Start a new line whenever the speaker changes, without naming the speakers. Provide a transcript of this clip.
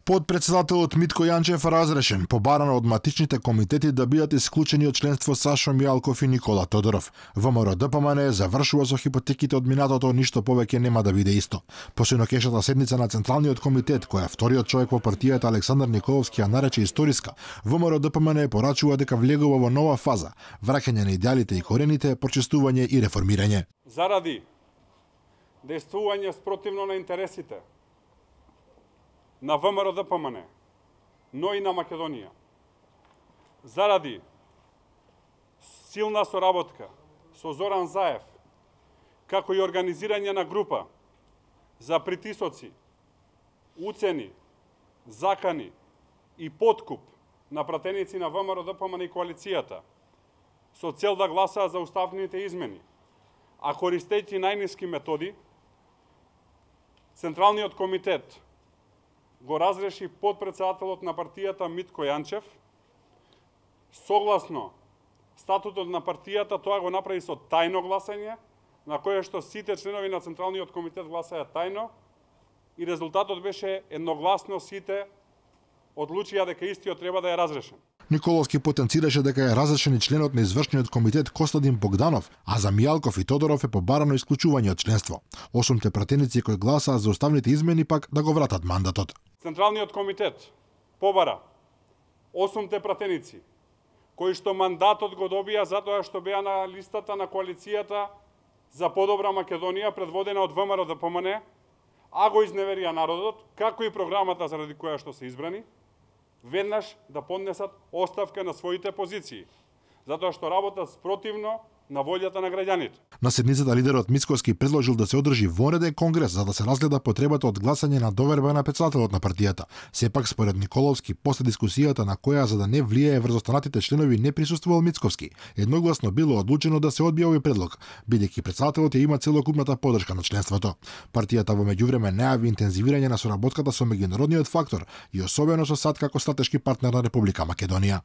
Подпредседателот Митко Јанчев разрешен, побарано од матичните комитети да бидат исклучени од членство Сашо Мијалков и Никола Тодоров. ВМРО-ДПМН завршува со хипотеките од минатото, ништо повеќе нема да биде исто. По синокешната седница на Централниот комитет, која вториот човек во партијата Александар Николовски ја нарече историска, ВМРО-ДПМН порачува дека влегува во нова фаза, враќање на идеалите и корените, прочистување и реформирање.
Заради действување спротивно на интересите на ВМРО-ДПМН, но и на Македонија. Заради силна соработка со Зоран Заев, како и организирање на група за притисоци, уцени, закани и подкуп на пратеници на ВМРО-ДПМН и коалицијата, со цел да гласаат за уставните измени, а користејќи најниски методи, Централниот комитет го разреши подпредседателот на партијата Митко Јанчев. Согласно статутот на партијата, тоа го направи со тајно гласање, на кое што сите членови на Централниот комитет гласаја тајно и резултатот беше едногласно, сите одлучија дека истиот треба да е разрешен.
Николовски потенцираше дека е разрешен и членот на извршниот комитет Костадин Богданов, а за Мијалков и Тодоров е побарано исклучување од членство. 8 пратеници кои гласаа за уставните измени пак да го вратат мандатот.
Централниот комитет побара 8 пратеници кои што мандатот го добија затоа што беа на листата на коалицијата за подобра Македонија предводена од ВМРО-ДПМН, а го изневерија народот, како и програмата заради која што се избрани, веднаш да поднесат оставка на своите позиции, затоа што работат спротивно на волјата на граѓаните.
На седницата лидерот Мицкоски предложил да се одржи вонреден конгрес за да се разгледа потребата од гласање на доверба на председателот на партијата. Сепак според Николовски, после дискусијата на која за да не влијае врз останатите членови не присуствувал Мицковски, едногласно било одлучено да се одбие овој предлог, бидејќи председателот ја има целокупната поддршка на членството. Партијата во меѓувреме најави интензивирање на соработката со меѓународниот фактор и особено со САД како стратешки партнер на Република Македонија.